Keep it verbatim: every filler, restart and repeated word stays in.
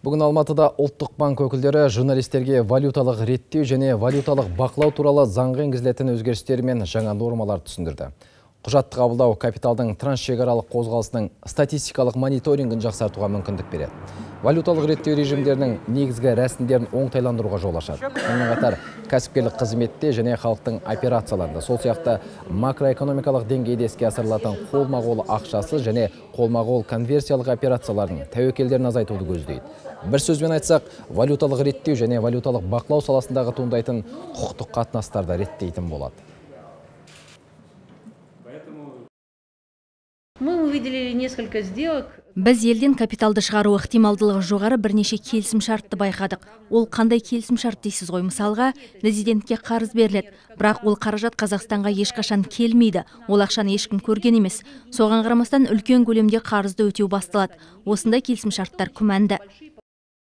Бүгін Алматыда ұлттық банк өкілдері журналистерге валюталық реттеу және валюталық бақылау туралы заңға енгізілетін өзгерістер мен жаңа нормалар түсіндірді. Құжатты қабылдау капиталдың трансшекаралық қозғалысының статистикалық мониторингін жақсартуға мүмкіндік береді. Валюталық реттеу режимдерінің негізгі рәсімдерін оңтайландыруға жол ашады. Сонымен қатар кәсіпкерлік қызметте және халықтың операцияларында, сол сияқты макроэкономикалық деңгейде іске асырылатын қолма-қол ақшасы және қолма-қол конверсиялық операциялардың тәуекелдерін азайтуды көздейді. Бір сөзбен айтсақ, валюталық реттеу және валюталық бақылау саласындағы туындайтын құқықтық қатынастарды реттейтін болады. Мы увидели несколько сделок. Біз елден капиталды шығару ықтималдылығы жоғары бірнеше келісім шартты байқадық. Ол қандай келісім шарт дейсіз ғой? Мысалға, резидентке қарыз беріледі, бірақ ол қаражат Қазақстанға ешқашан келмейді. Ол ақшаны ешкім көрген емес. Соған қарамастан үлкен көлемде қарызды өтеу басталады. Осындай келісім шарттар күмәнді.